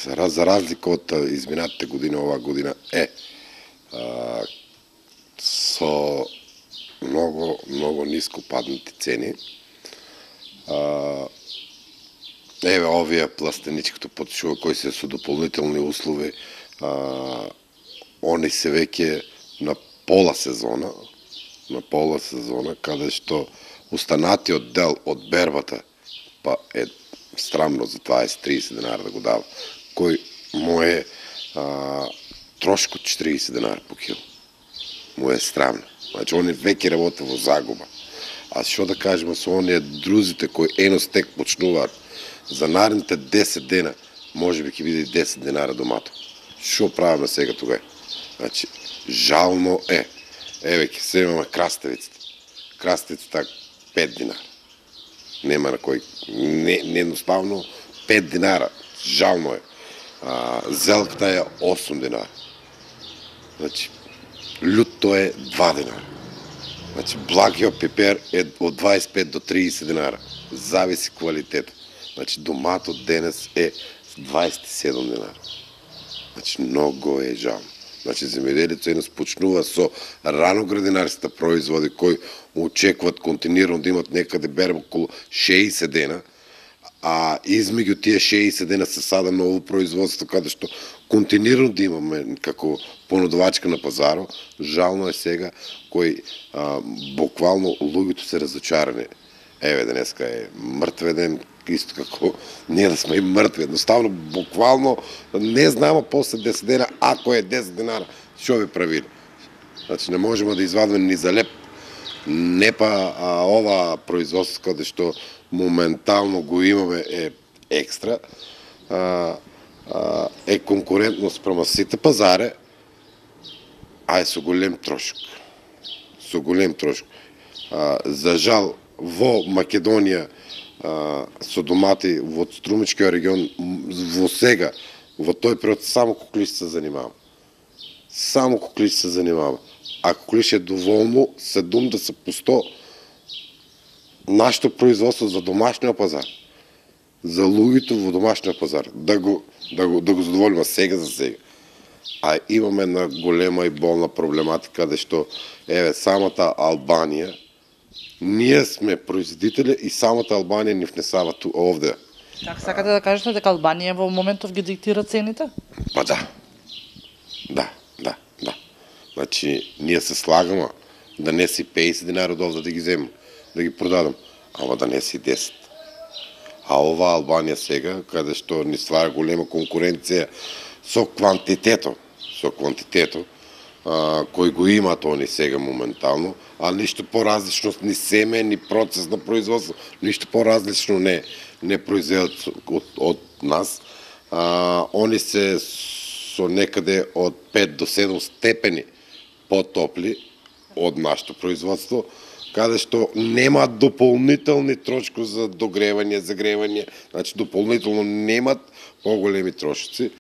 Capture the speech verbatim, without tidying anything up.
За разлика од изминатите година, оваа година е а, со многу, многу ниско паднати цени. А, еве овие пластеничкото потшува кои се со дополнителни услови, а, они се веќе на пола сезона, на пола сезона, каде што останатиот дел од бербата па е страмно за дваесет до триесет денара да го дава, кој му е а, трошко четириесет денара по кило. Му е страмно. Значи, они веќе работа во загуба. А што да кажеме со оние друзите кои еностек почнуваат за наредните десет дена, може би ќе биде и десет денара домато. Што правиме сега тога? Значи, жално е. Еве, ќе се имаме краставицата. Краставицата пет динара. Нема на кој, не, не едноставно пет динара, жално е. А, зелката е осум динара. Значи, лютто е два динара. Значи, благиот пипер е од дваесет и пет до триесет динара. Зависи квалитет. Значи, доматот денес е дваесет и седум динара. Значи, многу е жално. Значи, земјоделецот еднаш почнува со раноградинарските производи кои очекуваат континуирано да имат некаде берба околу шеесет дена, а измеѓу тие шеесет дена се сада ново производство каде што континуирано да имаме како понудувачка на пазарот. Жално е сега кои а, буквално луѓето се разочарани. Еве, денеска е мртве ден, исто како ние да сме и мртви. Едноставно, буквално, не знаеме после десет дена, ако е десет денара, што би правили. Значи, не можеме да извадиме ни за леп. Не па а, ова производство, каде што моментално го имаме, е екстра, а, а, е конкурентно спрема сите пазаре, а е со голем трошок. Со голем трошок. А, за жал, во Македонија, а, со домати во Струмичкиот регион, во сега, во тој период, само куклиш се занимава. Само куклиш се занимава. А куклиш е доволно седумдесет по сто нашето производство за домашниот пазар. За луѓето во домашниот пазар. Да го, да го, да го задоволиме сега за сега. А имаме една голема и болна проблематика, каде што, еве, самата Албанија, ние сме производители и самата Албанија ни внесава ту овде. Така сакате да кажете дека Албанија во моментов ги диктира цените? Па да. Да, да, да. Значи, ние се слагаме да не си песет динари од овде да ги земам, да ги продадам, ама да не си десет. А ова Албанија сега, каде што ни ствара голема конкуренција со квантитето, со квантитето, а, кој го имаат они сега моментално, а ништо поразлично ни семе, ни процес на производство, ништо поразлично не не произведат од, од нас. А, они се со некаде од пет до седум степени потопли од нашето производство, каде што немаат дополнителни трошкови за догревање, загревање, значи дополнително немаат поголеми трошоци.